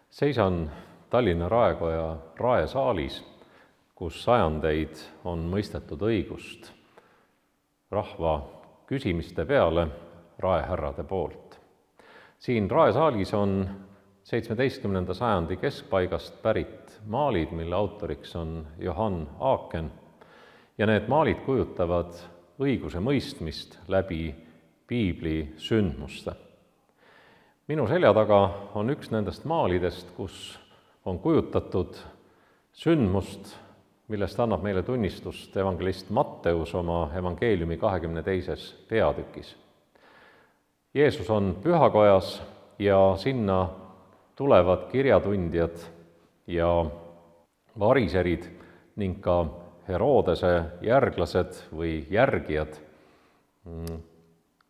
Seisan Tallinna Raekoja raesaalis, kus sajandeid on mõistetud õigust rahva küsimiste peale raehärrade poolt. Siin raesaalis on 17. sajandi keskpaigast pärit maalid, mille autoriks on Johann Aaken, ja need maalid kujutavad õiguse mõistmist läbi piibli sündmuste. Minu selja taga on üks nendest maalidest, kus on kujutatud sündmust, millest annab meile tunnistust evangelist Matteus oma evangeeliumi 22. peatükis. Jeesus on pühakojas ja sinna tulevad kirjatundjad ja variserid ning ka Herodese järglased või järgijad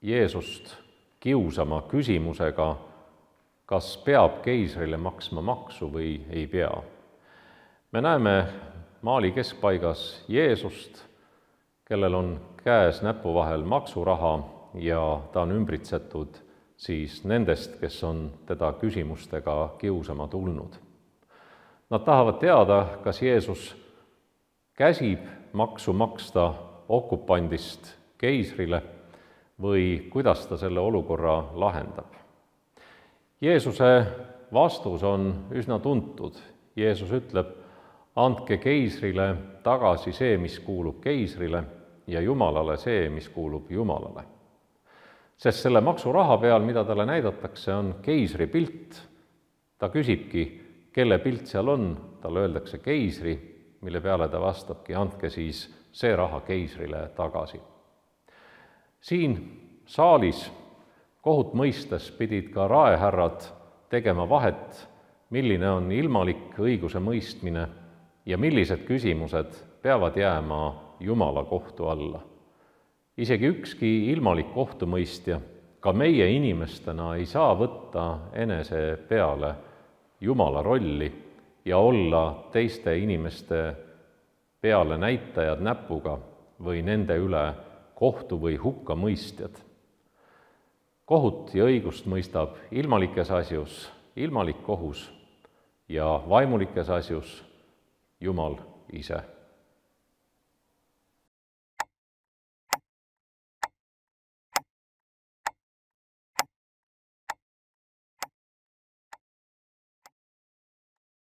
Jeesust kiusama küsimusega, kas peab keisrile maksma maksu või ei pea. Me näeme maali keskpaigas Jeesust, kellel on käes näpu vahel maksuraha ja ta on ümbritsetud siis nendest, kes on teda küsimustega kiusama tulnud. Nad tahavad teada, kas Jeesus käsib maksu maksta okupandist keisrile või kuidas ta selle olukorra lahendab. Jeesuse vastus on üsna tuntud. Jeesus ütleb, andke keisrile tagasi see, mis kuulub keisrile, ja Jumalale see, mis kuulub Jumalale. Sest selle maksuraha peal, mida talle näidatakse, on keisri pilt. Ta küsibki, kelle pilt seal on, talle öeldakse keisri, mille peale ta vastabki, andke siis see raha keisrile tagasi. Siin saalis kohut mõistes pidid ka raehärrad tegema vahet, milline on ilmalik õiguse mõistmine ja millised küsimused peavad jääma Jumala kohtu alla. Isegi ükski ilmalik kohtumõistja, ka meie inimestena, ei saa võtta enese peale Jumala rolli ja olla teiste inimeste peale näitajad näpuga või nende üle kohtu või hukkamõistjad. Kohut ja õigust mõistab ilmalikes asjus ilmalik kohus ja vaimulikes asjus Jumal ise.